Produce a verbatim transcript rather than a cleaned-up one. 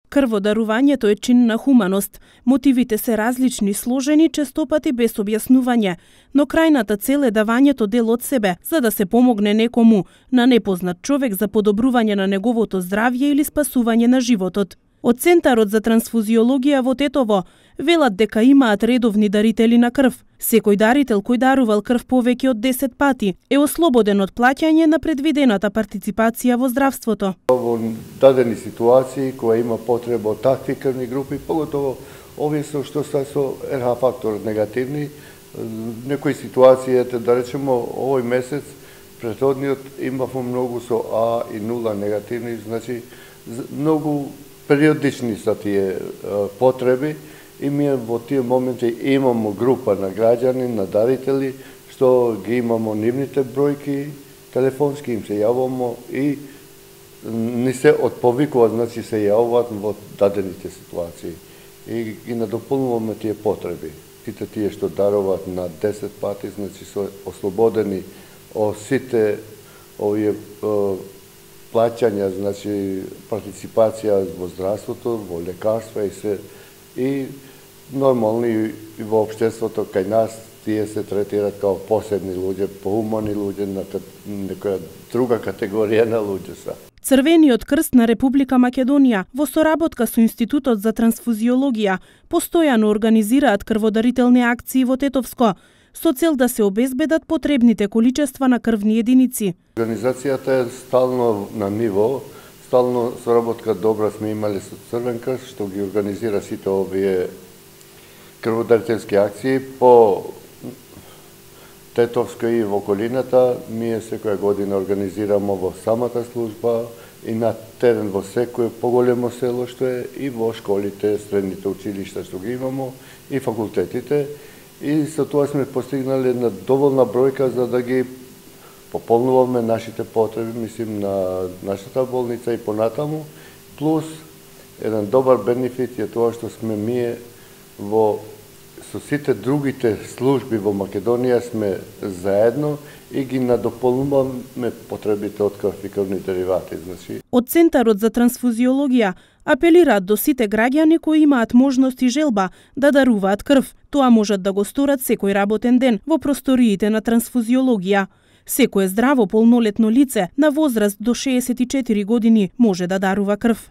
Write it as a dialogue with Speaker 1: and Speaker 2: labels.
Speaker 1: Крводарувањето е чин на хуманост. Мотивите се различни, сложени, честопати без објаснување, но крајната цел е давањето дел од себе, за да се помогне некому, на непознат човек за подобрување на неговото здравје или спасување на животот. Од Центарот за трансфузиологија во Тетово велат дека имаат редовни дарители на крв. Секој дарител кој дарувал крв повеќе од десет пати е ослободен од плаќање на предвидената партиципација во здравството.
Speaker 2: Во дадени ситуации која има потреба од такви крвни групи, поготово овие со што се со ер ха фактор негативни, некои ситуации, да речемо овој месец, претходниот имавме многу со А и нула негативни, значи многу периодични са тие потреби и ние во тие моменти имамо група на граѓани, на дарители, што ги имамо нивните бројки, телефонски им се јавамо и не се отповикуваат, значи се јавуваат во дадените ситуации. И ги надополнуваме тие потреби. Сите тие што даруваат на десет пати, значи се ослободени од сите овие плаќања, значи партиципација во здравството, во лекарства и се и нормално и во општеството кај нас тие се третираат како посебни луѓе, поумани луѓе, на некоја друга категорија на луѓе са.
Speaker 1: Црвениот крст на Република Македонија во соработка со Институтот за трансфузиологија постојано организираат крводарителни акции во Тетовско со цел да се обезбедат потребните количества на крвни единици.
Speaker 2: Организацијата е стално на ниво, стално соработка добра сме имале со Црвен крст, што ги организира сите овие крводарителски акции по Тетовско и во околината. Ние секоја година организираме во самата служба и на терен во секој поголемо село што е и во школите, средните училишта што ги имамо и факултетите. И со тоа сме постигнале една доволна бројка за да ги пополнуваме нашите потреби, мислим на нашата болница и понатаму, плюс еден добар бенефит е тоа што сме ние во со сите другите служби во Македонија сме заедно и ги надополнуваме потребите од крв и крвни деривати. Значи...
Speaker 1: Од Центарот за трансфузиологија апелираат до сите граѓани кои имаат можност и желба да даруваат крв. Тоа можат да го сторат секој работен ден во просториите на трансфузиологија. Секое здраво полнолетно лице на возраст до шеесет и четири години може да дарува крв.